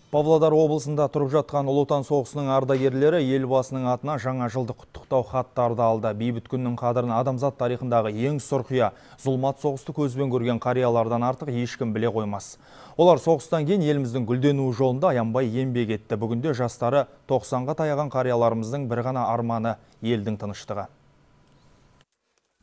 Павлодар облысында тұрып жатқан Ұлы Отан соғысының ардагерлері елбасының атына жаңа жылдық құттықтау хаттарды алды. Бейбіт күннің қадірін адамзат тарихындағы ең сұрқия зұлмат соғысты көзбен көрген қариялардан артық ешкім біле қоймас. Олар соғыстан кейін еліміздің гүлденуі жолында аянбай еңбек етті. Бүгінде жастары 90-ға таяған қарияларымыздың бір ғана арманы елдің тыныштығы.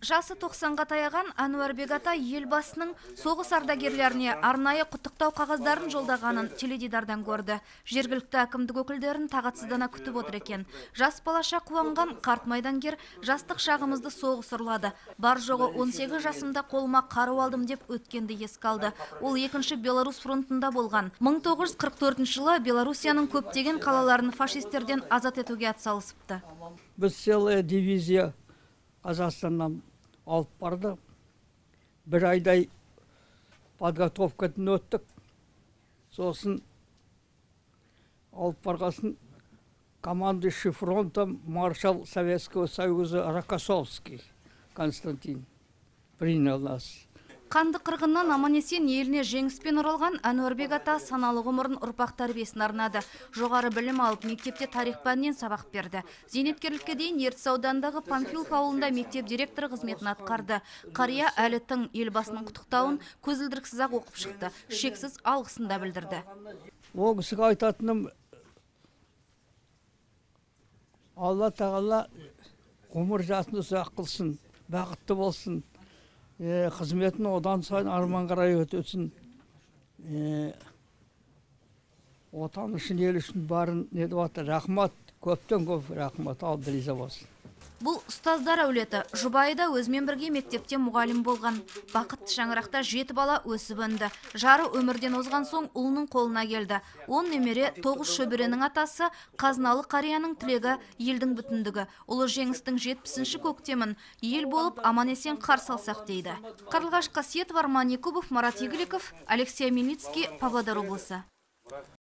Жасы 90-ға таяған Әнуарбек ата елбасының соғыс ардагерлеріне арнайы құттықтау қағаздарын жолдағанын теледидардан көрді. Жергілікті әкімдік өкілдерін тағатсыздана күтіп отыр екен. Жас балаша қуанған қарт майдангер жастық шағымызды соғыс ұрлады. Бар жоғы 18 жасымда қолыма қару алдым деп өткенді еске алды. Ол екінші Беларусь фронтында болған. 1944 жылы Белоруссияның көптеген қалаларын фашистерден азат етуге атсалысыпты. Біз целая дивизия Қазақстаннан алып барды. Бір айдай подготовкадан өттік. Сосын алып барғасын командующий фронтом маршал Советского Союза Рокоссовский Константин принял нас. Қанды қырғыннан аман-есен еліне жеңіспен оралған Әнуарбек ата саналы ғұмырын ұрпақ тәрбиесіне арнады. Жоғары білім алып, мектепте тарих пәнінен сабақ берді. Зейнеткерлікке дейін Ертіс аудандағы Панфилов ауылында мектеп директоры қызметін атқарды. Қария әлі тың елбасының құттықтауын көзілдіріксіз-ақ оқып шықты. Шексіз алғысын да білдірді. Ол кісіге айтатыным, Алла тағала ғұмыр жасын ұзақ қылсын, бақытты болсын. Қызметін одан сайын арман қарай өтесін. Отан үшін, ел үшін барын недіп атыр. Рахмат, көптен көп рахмат, алды риза болсын. Бұл ұстаздар әулеті. Жұбайы да өзімен бірге мектепте мұғалім болған. Бақытты шаңырақта 7 бала өсіп өнді. Жары өмірден озған соң ұлының қолына келді. 10 немере 9 шөберенің атасы, қазыналы қарияның тілегі елдің бүтіндігі. Ұлы жеңістің 70-ші көктемін ел болып аман-есен қарсы алсақ дейді. Қарлығаш Қасиетов, Арман Якубов, Марат Игіліков, Алексей Мельницкий, Павлодар облысы.